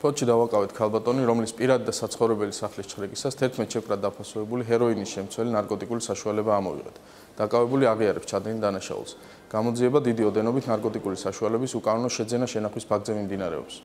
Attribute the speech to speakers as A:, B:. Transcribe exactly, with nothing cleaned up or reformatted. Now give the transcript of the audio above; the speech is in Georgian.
A: ფოთში დავაკავეთ ქალბატონი, რომლის პირად და საცხოვრებელი სახლის ჩხრეკისას თერთმეტ შეკვრად დაფასებული ჰეროინის შემცველი ნარკოტიკული საშუალება ამოვიღეთ. დაკავებული აღიარებს ჩადენილ დანაშაულს. გამოძიება დიდი ოდენობით ნარკოტიკული საშუალების უკანონო შეძენა-შენახვის ფაქტზე მიმდინარეობს.